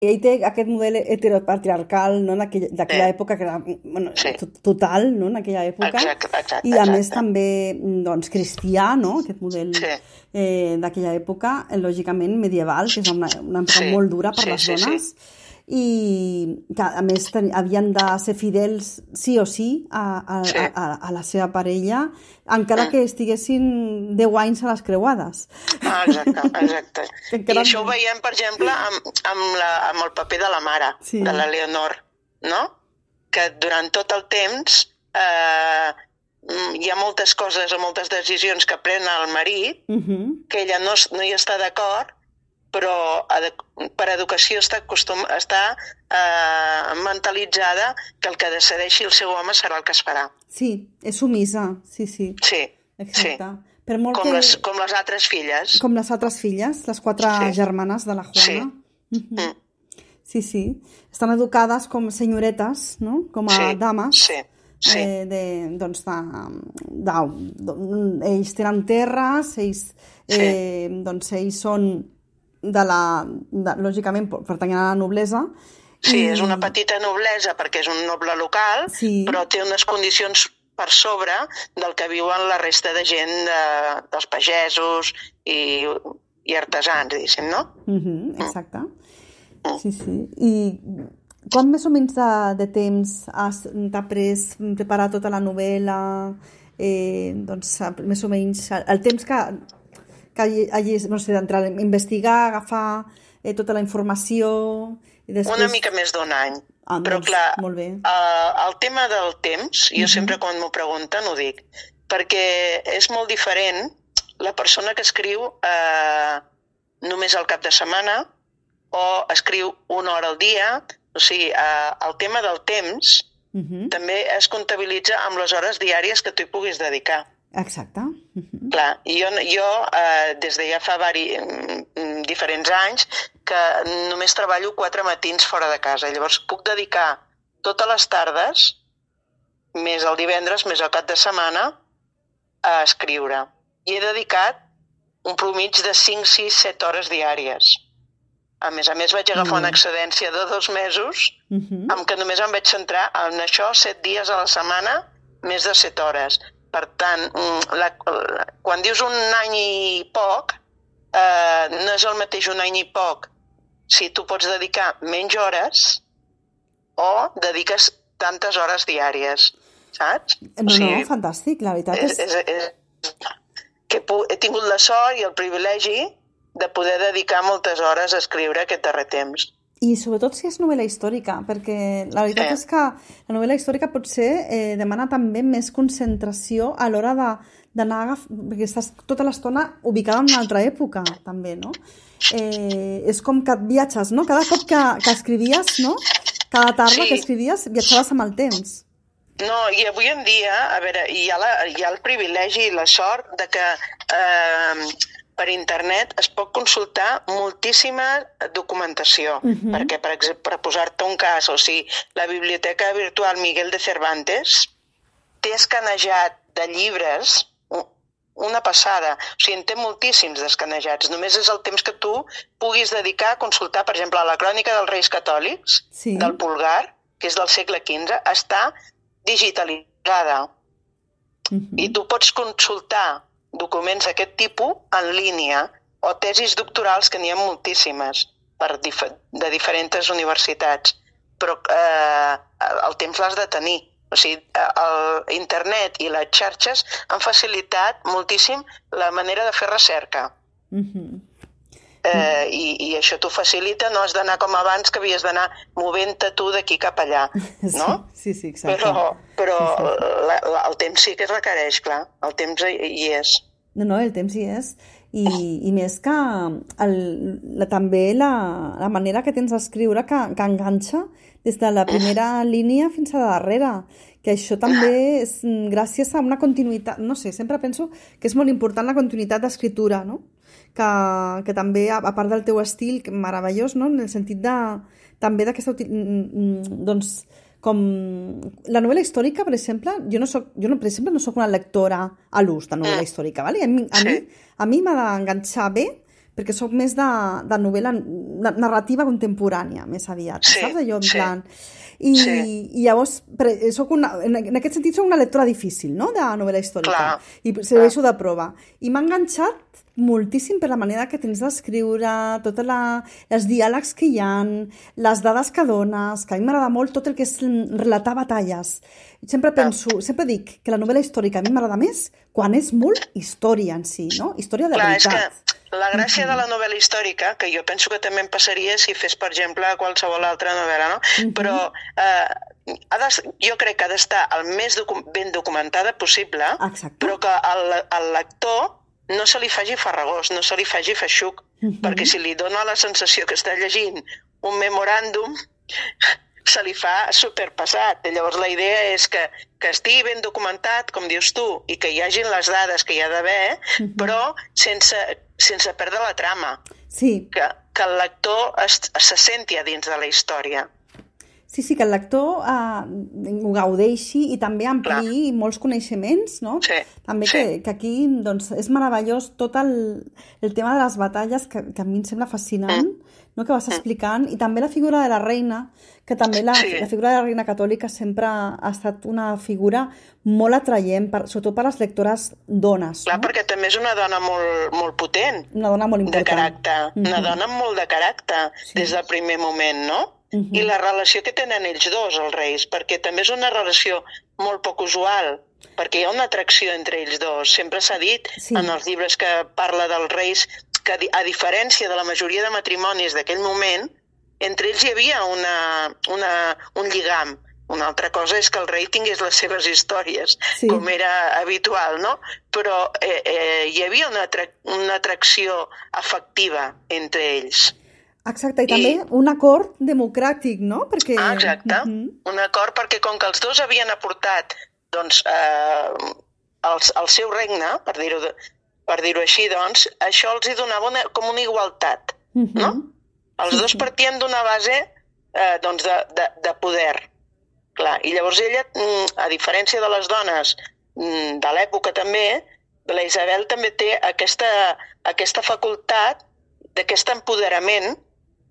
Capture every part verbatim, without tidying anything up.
ell té aquest model heteropatriarcal, no? d'aquella d'aquella Eh, època, que era bueno, sí, to- total, no? en aquella època, exacte, exacte, i a més exacte. també doncs, cristià, no? aquest model Sí, eh, d'aquella època, eh, lògicament medieval, que és una, una època sí, molt dura per sí, les sí, sí, dones, i que a més ten, havien de ser fidels sí o sí a, a, sí. a, a la seva parella, encara Mm. que estiguessin deu anys a les creuades. Ah, exacte, exacte. Que I encara això ho més. veiem, per exemple, amb, amb, la, amb el paper de la mare, Sí. de la Leonor, no? Que durant tot el temps eh, mm, hi ha moltes coses o moltes decisions que pren el marit, Uh-huh. que ella no, es- no hi està d'acord, però edu- per educació està, acostum, està eh, mentalitzada que el que decideixi el seu home serà el que es farà. Sí, és sumisa, sí, sí, Sí, sí. exacte. Per molt Com que... les, com les altres filles. Com les altres filles, les quatre Sí. germanes de la Sí. Juana. Mhm. Mm. Sí, sí. Estan educades com senyoretes, no? Com a Sí, dames. sí, sí. Eh, de, doncs de, de, de, ells tenen terres, ells, eh, doncs ells són de la, de, lògicament pertanyen a la noblesa. Sí, i- és una petita noblesa perquè és un noble local, Sí. però té unes condicions per sobre del que viuen la resta de gent, de, dels pagesos i, i artesans, diguéssim, no? Mhm, exacte. Sí, sí. I quan més o menys de, de temps has t'ha pres preparar tota la novel·la? Eh, doncs, més o menys, el temps que, que hagis, no sé, d'entrar a investigar, agafar eh, tota la informació i després... Una mica més d'un any. Ah, Però, doncs, clar, molt bé. eh, el tema del temps, jo Mhm. sempre quan m'ho pregunten ho dic, perquè és molt diferent la persona que escriu eh, només al cap de setmana o escriu una hora al dia. O sigui, eh, el tema del temps Mhm, també es comptabilitza amb les hores diàries que tu hi puguis dedicar. exacte. Mhm, Clar, jo, jo eh, des de ja fa vari, mm, diferents anys que només treballo quatre matins fora de casa. Llavors puc dedicar totes les tardes, més el divendres, més el cap de setmana, a escriure. I he dedicat un promig de cinc, sis, set hores diàries. A més a més vaig agafar Molt una bé. excedència de dos mesos mhm. amb què només em vaig centrar en això set dies a la setmana, més de set hores. Per tant, mm, la, la, quan dius un any i poc, eh, no és el mateix un any i poc si tu pots dedicar menys hores o dediques tantes hores diàries, saps? No, no, fantàstic, la veritat és, és... és, és, que he, he tingut la sort i el privilegi de poder dedicar moltes hores a escriure aquest darrer temps. I sobretot si és novel·la històrica, perquè la veritat Sí. és que la novel·la històrica potser eh, demana també més concentració a l'hora de- d'anar a agaf... perquè estàs tota l'estona ubicada en una altra època, també, no? Eh, és com que et viatges, no? Cada cop que, que escrivies, no? Cada tarda Sí. que escrivies viatjaves amb el temps. No, i avui en dia, a veure, hi ha, la, hi ha el privilegi i la sort de que eh, per internet es pot consultar moltíssima documentació, Mhm. perquè, per exemple, per posar-te un cas, o sigui, la Biblioteca Virtual Miguel de Cervantes té escanejat de llibres u- una passada, o sigui, en té moltíssims d'escanejats, només és el temps que tu puguis dedicar a consultar, per exemple, la Crònica dels Reis Catòlics, Sí. del Pulgar, que és del segle quinze, està digitalitzada. Mhm. I tu pots consultar documents d'aquest tipus en línia o tesis doctorals, que n'hi ha moltíssimes per dif de diferents universitats. Però eh, el temps l'has de tenir. O sigui, el internet i les xarxes han facilitat moltíssim la manera de fer recerca. Mhm. Eh, i, I això t'ho facilita, no has d'anar com abans, que havies d'anar movent-te tu d'aquí cap allà, no? Sí, sí, sí, exacte. Però, però Sí, sí, sí. la, la, el temps sí que es requereix, clar. El temps hi, hi és. No, no, el temps hi és. I, i més que el, la, també la, la manera que tens d'escriure que, que enganxa des de la primera línia fins a la darrera. Que això també és mm, gràcies a una continuïtat. No sé, sempre penso que és molt important la continuïtat d'escriptura, no? Que, que també, a, a part del teu estil, que meravellós, no? En el sentit de, també d'aquesta... uti- mm, mm, doncs, com la novel·la històrica, per exemple, jo, no soc, jo no, per exemple, no soc una lectora a l'ús de novel·la Mm. històrica, ¿vale? A mi, a Sí. mi, a mi m'ha d'enganxar bé perquè soc més de, de novel·la narrativa contemporània, més aviat, sí, saps? Allò en sí. plan... I, sí. I llavors, soc una, en aquest sentit, soc una lectora difícil, no?, de novel·la històrica. Clar, I serveixo de prova. I m'ha enganxat moltíssim per la manera que tens d'escriure, tots els diàlegs que hi ha, les dades que dones, que a mi m'agrada molt tot el que és relatar batalles. Sempre penso, sempre dic que la novel·la històrica a mi m'agrada més quan és molt història en si, no? Història de Clar, veritat. És que la gràcia uh-huh. de la novel·la històrica, que jo penso que també em passaria si fes, per exemple, qualsevol altra novel·la, no? Uh-huh. Però eh, ha de, jo crec que ha d'estar el més docu ben documentada possible, Exacte. Però que el, el lector no se li faci farragós, no se li faci feixuc, uh-huh. perquè si li dona la sensació que està llegint un memoràndum, se li fa superpesat. Llavors la idea és que, que estigui ben documentat, com dius tu, i que hi hagin les dades que hi ha d'haver, uh-huh. però sense, sense perdre la trama. Sí. Que, que el lector es, se senti a dins de la història. Sí, sí, que el lector eh, ho gaudeixi i també ampliï molts coneixements, no? Sí, també sí. que, que aquí doncs, és meravellós tot el, el tema de les batalles, que, que a mi em sembla fascinant, mm. no?, que vas explicant, i també la figura de la reina, que també la, sí. la figura de la reina catòlica sempre ha estat una figura molt atraient, per, sobretot per les lectores dones. Clar, no? Perquè també és una dona molt, molt potent. Una dona molt important. De caràcter. Mm-hmm. Una dona amb molt de caràcter, sí. des del primer moment, no? Uh-huh. I la relació que tenen ells dos, els reis, perquè també és una relació molt poc usual, perquè hi ha una atracció entre ells dos. Sempre s'ha dit sí. en els llibres que parla dels reis que, a diferència de la majoria de matrimonis d'aquell moment, entre ells hi havia una, una, un lligam. Una altra cosa és que el rei tingués les seves històries, sí. com era habitual, no? Però eh, eh, hi havia una, atra una atracció afectiva entre ells. Exacte, i també I... un acord democràtic, no? Perquè... Ah, exacte, uh-huh. un acord perquè com que els dos havien aportat doncs, eh, el, el seu regne, per dir-ho per dir-ho així, doncs, això els hi donava una, com una igualtat, uh-huh. no? Els sí, dos partien d'una base eh, doncs de, de, de poder. Clar, i llavors ella, a diferència de les dones de l'època també, la Isabel també té aquesta, aquesta facultat d'aquest empoderament,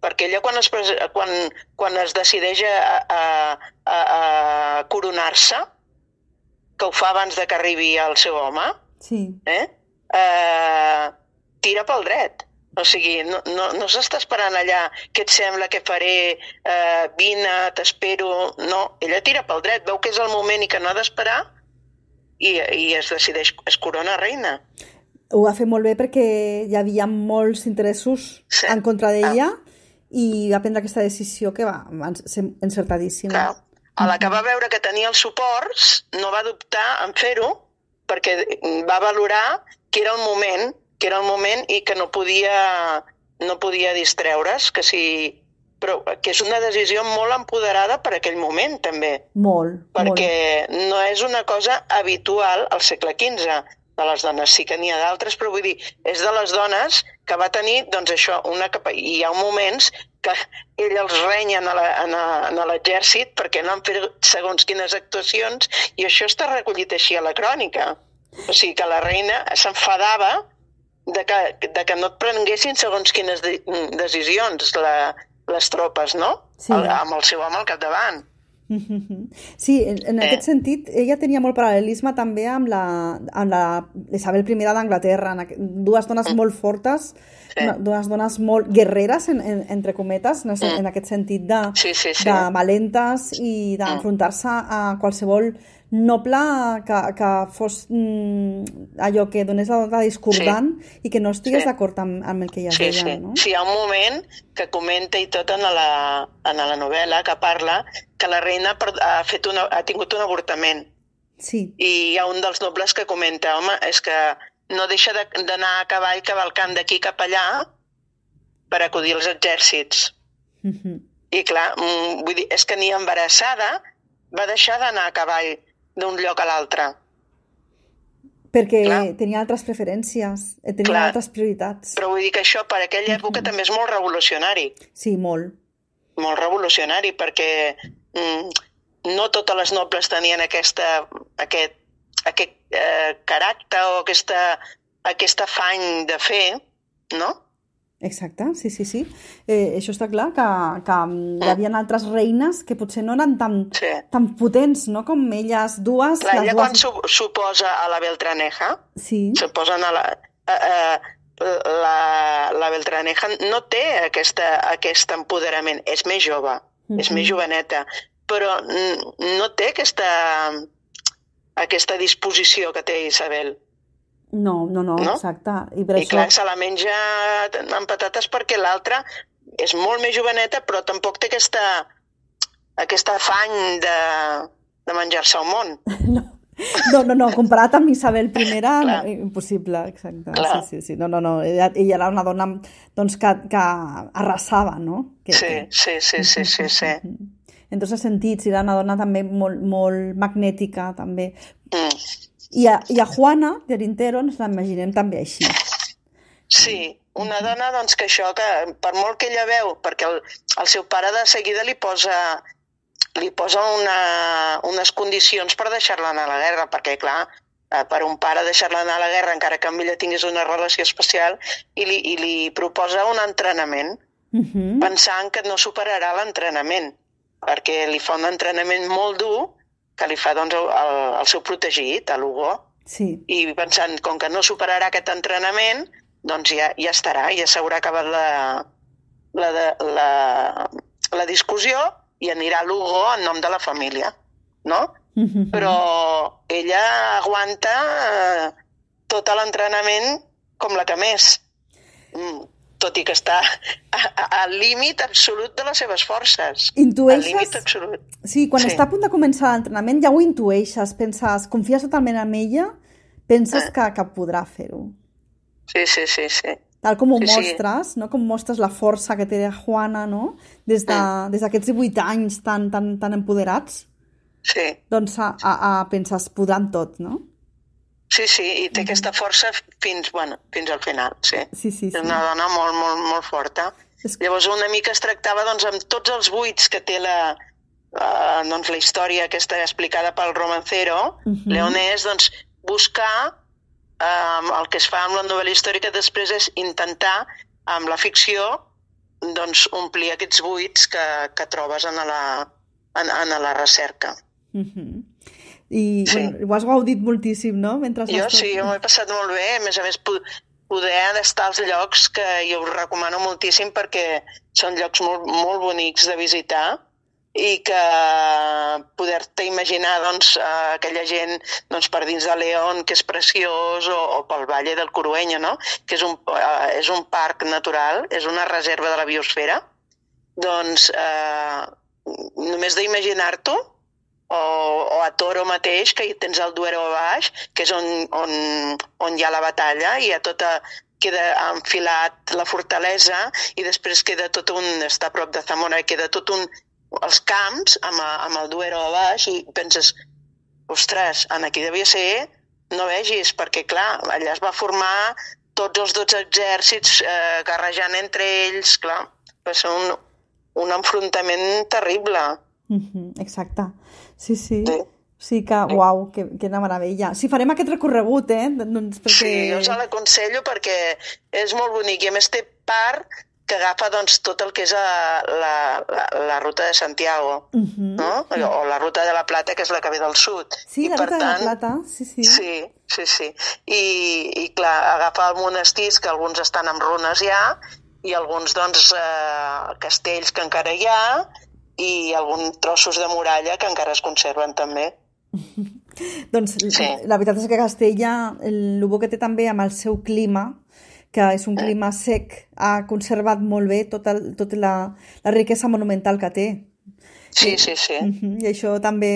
perquè ella quan es, quan, quan es decideix a, a, a, a coronar-se, que ho fa abans de que arribi el seu home, sí. eh? Eh, tira pel dret. O sigui, no, no, no s'està esperant allà què et sembla, què faré, eh, vine, t'espero... No, ella tira pel dret, veu que és el moment i que no ha d'esperar i, i es decideix, es corona reina. Ho va fer molt bé perquè hi havia molts interessos sí. en contra d'ella ah. i va prendre aquesta decisió que va, va ser encertadíssima. Clar. A la que va veure que tenia els suports, no va dubtar en fer-ho perquè va valorar que era el moment que era el moment i que no podia, no podia distreure's, que si, però que és una decisió molt empoderada per aquell moment, també. Molt, perquè molt. no és una cosa habitual al segle quinze de les dones, sí que n'hi ha d'altres, però vull dir, és de les dones que va tenir, doncs això, una capa... I hi ha moments que ell els renyen a l'exèrcit perquè no han fet segons quines actuacions, i això està recollit així a la crònica. O sigui que la reina s'enfadava de que, de que no et prenguessin segons quines de, decisions la, les tropes, no? Sí. El, amb el seu home al capdavant. Sí, en, en eh. aquest sentit, ella tenia molt paral·lelisme també amb la, amb la Isabel primera d'Anglaterra, dues dones mm. molt fortes, sí. dues dones molt guerreres, en, en, entre cometes, en, mm. en aquest sentit de, sí, sí, sí. de valentes i d'enfrontar-se a qualsevol noble que, que fos mm, allò que donés la nota discordant sí. i que no estigués sí. d'acord amb, amb el que ella sí, deia. Sí. No? Sí, hi ha un moment que comenta i tot en la, en la novel·la que parla que la reina ha, fet una, ha tingut un avortament. Sí. I hi ha un dels nobles que comenta, home, és que no deixa d'anar a cavall cavalcant d'aquí cap allà per acudir als exèrcits. Uh-huh. I clar, vull dir, és que ni embarassada va deixar d'anar a cavall d'un lloc a l'altre. Perquè clar. Tenia altres preferències, tenia clar. Altres prioritats. Però vull dir que això per aquella època mm-hmm. també és molt revolucionari. Sí, molt. Molt revolucionari, perquè mm, no totes les nobles tenien aquesta, aquest, aquest eh, caràcter o aquesta, aquest afany de fer, no? Exacte, sí, sí, sí. Eh, això està clar, que, que hi havia altres reines que potser no eren tan, Sí. tan potents, no?, com elles dues. Clar, les ella dues... quan s'ho- s'oposa a la Beltraneja, Sí, s'oposen a la... A, a, la, la Beltraneja no té aquesta, aquest empoderament, és més jove, Mhm. és més joveneta, però n- no té aquesta, aquesta disposició que té Isabel. no, no, no, No? exacte. I per I això... clar, se la menja amb patates perquè l'altra és molt més joveneta, però tampoc té aquesta, aquest afany de, de menjar-se el món. No, no, no, comparat amb Isabel I, no, Clar. impossible, exacte. Clar. Sí, sí, sí. No, no, no. Ella, ella era una dona doncs, que, que arrasava, no? Que, Sí, que... sí, sí, sí, sí, sí. En tots els sentits, era una dona també molt, molt magnètica, també. Mm. I a, i a Juana de Rintero ens la imaginem també així. Sí, una dona doncs, que això, que per molt que ella veu, perquè el, el seu pare de seguida li posa, li posa una, unes condicions per deixar-la anar a la guerra, perquè clar, eh, per un pare deixar-la anar a la guerra, encara que amb ella tingués una relació especial, i li, i li proposa un entrenament, Uh-huh. pensant que no superarà l'entrenament, perquè li fa un entrenament molt dur que li fa doncs, el, el seu protegit, a l'Hugo, Sí. i pensant, com que no superarà aquest entrenament, doncs ja, ja estarà, ja s'haurà acabat la, la, de- la, la discussió i anirà a l'Hugo en nom de la família, no? Uh-huh. Però ella aguanta eh, tot l'entrenament com la que més, mm, tot i que està a- a- al límit absolut de les seves forces. Al Intueixes? límit absolut. Sí, quan Sí. està a punt de començar l'entrenament ja ho intueixes, penses, confies totalment en ella, penses Eh. que, que podrà fer-ho. Sí, sí, sí, sí. Tal com ho Sí, sí. mostres, no? Com mostres la força que té Juana, no? Des de, des d'aquests divuit anys tan, tan, tan empoderats, Sí. doncs a, a, a penses, podran tot, no? Sí, sí, i té aquesta força fins, bueno, fins al final, sí. Sí, sí, És sí. una dona molt, molt, molt forta. És- Llavors una mica es tractava doncs, amb tots els buits que té la, uh, doncs, la història aquesta explicada pel romancero, Mhm. Leonès, doncs, buscar um, el que es fa amb la novel·la històrica després és intentar, amb la ficció, doncs, omplir aquests buits que, que trobes en la, en, en la recerca. Uh-huh. I Sí. bueno, ho has gaudit moltíssim, no? Mentre Jo estàs- sí, jo m'ho he passat molt bé, a més a més po- poder estar als llocs que jo us recomano moltíssim perquè són llocs molt, molt bonics de visitar i que poder-te imaginar doncs, eh, aquella gent doncs, per dins de León, que és preciós, o, o pel Valle del Corueño, no? Que és un, eh, és un parc natural, és una reserva de la biosfera, doncs eh, només d'imaginar-t'ho, o, o a Toro mateix, que hi tens el Duero a baix, que és on, on, on hi ha la batalla, i a tota, queda enfilat la fortalesa, i després queda tot un, està a prop de Zamora, i queda tot un, els camps amb, a- amb el Duero a baix, i penses, ostres, en aquí devia ser, no vegis, perquè clar, allà es va formar tots els dotze exèrcits eh, guerrejant entre ells, clar, va ser un, un enfrontament terrible. Uh-huh. Exacte. Sí, sí. Sí. Sí que, uau, que, que una meravella. Sí, farem aquest recorregut, eh? Doncs perquè... Sí, jo us l'aconsello perquè és molt bonic i a més té part que agafa doncs, tot el que és a, la, la, la ruta de Santiago, Uh-huh. no? O la ruta de la Plata, que és la que ve del sud. Sí, I, la per ruta de la tant, plata, sí, sí. Sí, sí, sí. I, i clar, agafa el monestirs, que alguns estan en runes ja, i alguns, doncs, eh, castells que encara hi ha, i alguns trossos de muralla que encara es conserven també. Doncs Sí. la veritat és que Castella, el, el bo que té també amb el seu clima, que és un clima sec, ha conservat molt bé tota, tota la, la riquesa monumental que té. Sí, sí, sí. Uh-huh. I això també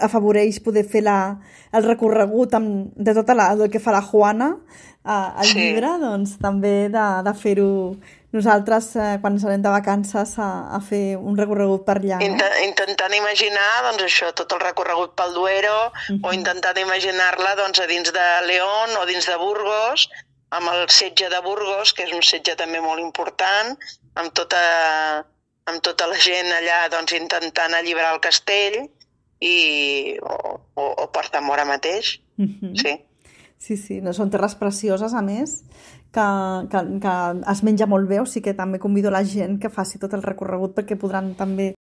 afavoreix poder fer la, el recorregut amb, de tota la, del que farà Juana a, al Sí. llibre, doncs també de, de fer-ho nosaltres eh, quan ens anem de vacances a, a fer un recorregut per allà. No? Inten intentant imaginar doncs, això, tot el recorregut pel Duero, Mhm. o intentant imaginar-la doncs, a dins de León o dins de Burgos, amb el setge de Burgos, que és un setge també molt important, amb tota, amb tota la gent allà doncs, intentant alliberar el castell, i, o, o, o per Zamora mateix. Uh-huh. Sí. Sí, sí, no, són terres precioses, a més, que, que, que es menja molt bé, o sigui que també convido la gent que faci tot el recorregut perquè podran també